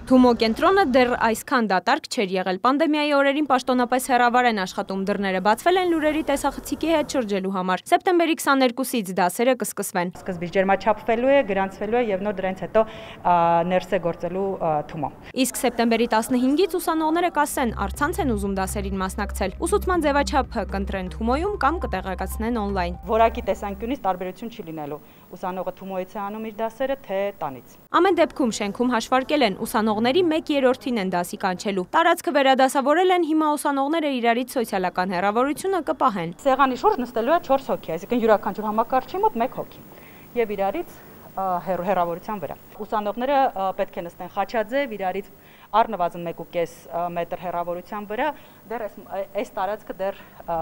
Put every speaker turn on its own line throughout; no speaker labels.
Թումո կենտրոնը դեռ այսքան դատարկ չէր եղել։ Պանդեմիայի օրերին պաշտոնապես հեռավար են աշխատում, դռները բացվել են լուրերի տեսախցիկի հետ շրջելու համար։ Սեպտեմբերի 22-ից դասերը կսկսվեն։
Սկզբից ջերմաչափվելու է, գրանցվելու է եւ նոր դրանից հետո ներս է գործելու Թումո։
Իսկ սեպտեմբերի 15-ից ուսանողները կասեն, առցանց են ուզում դասերին մասնակցել։ Ուսուցման ձևաչափը կընտրեն Թումոյում կամ կտեղեկացնեն on-line։
Որակի տեսանկյունից տարբերություն չի լինելու։ Ուսանողը Թումոյից է անում իր դասերը, թե տանից։
Ամեն դեպքում շենքում հաշվարկել են ուսանողների 1/3-ին են դասի կանչելու։ Տարածքը վերադասավորել են, հիմա ուսանողները իրարից սոցիալական հեռավորությունը կպահեն։
Սեղանի շուրջ նստելու է 4 հոգի, այսինքն յուրաքանչյուր համակարգչի մոտ 1 հոգի։ Եվ իրարից հեռավորության վրա։ Ուսանողները պետք է նստեն խաչաձև, իրարից առնվազն 1.5 մետր հեռավորության վրա, դեռ այս տարածքը դեռ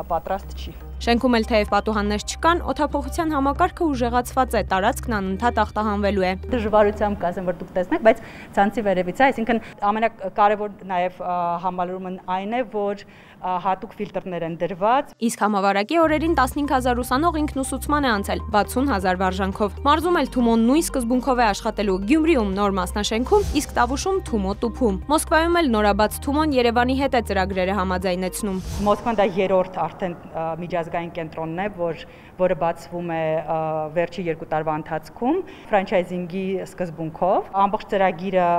պատրաստ չի։
Շենքում էլ թեև պատուհաններ չկան, օդափոխության համակարգը ուժեղացված է, տարածքն անընդհատ ախտահանվելու է։
Դժվարությամբ կասեմ, որ դուք տեսնեք, բայց ցանցի վերևից է, այսինքն ամենակարևոր նաև համալրումն այն է, որ հատուկ ֆիլտրներ են դրված։
Իսկ համավարակի օրերին 15000 ուսանող ինքնուսուցման է անցել 60000 վարժանքով։ Մարզում էլ Թումոն նույն սկզբունքով է աշխատելու, Գյումրիում նոր մասնաշենքում, իսկ Տավուշում Թումո տուփում։ Մոսկվայում էլ նորաբաց Թումոն Երևանի հետ է ծրագրերը համաձայնեցնում։
Մոսկվան դա երրորդ արդեն միջազգային կենտրոնն է, որը բացվում է վերջի 2 տարվա ընթացքում ֆրանչայզինգի սկզբունքով։ Ամբողջ ծրագիրը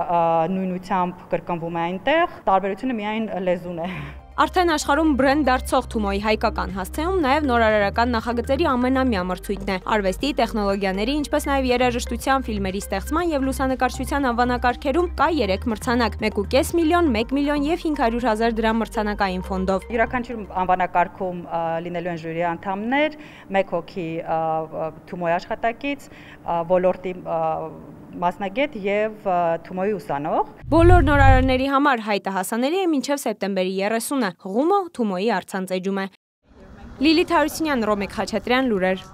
նույնությամբ կրկնվում է այնտեղ, տարբերությունը միայն լեզուն է։
Արդեն աշխարհում բրենդ դարձող Թումոյի հայկական հասցեում նաև նորարարական նախագծերի ամենամյա մրցույթն է։ Արվեստի, տեխնոլոգիաների, ինչպես նաև երաժշտության, ֆիլմերի ստեղծման եւ լուսանկարչության անվանակարգերում կա 3 մրցանակ՝ 1.5 միլիոն, 1 միլիոն եւ 500,000 դրամ մրցանակային ֆոնդով։
Յուրաքանչյուր անվանակարգում լինելու են ժյուրի անդամներ, 1 հոգի Թումոյի աշխատակից, ոլորտի մասնագետ եւ Թումոյի ուսանող։
Բոլոր նորարարների համար հայտը հասանելի է մինչև սեպտեմբերի 30-ը։ Հղումը Թումոյի առցանց էջում է։ Լիլիթ Հարությունյան, Ռոմիկ Խաչատրյան, լուրեր։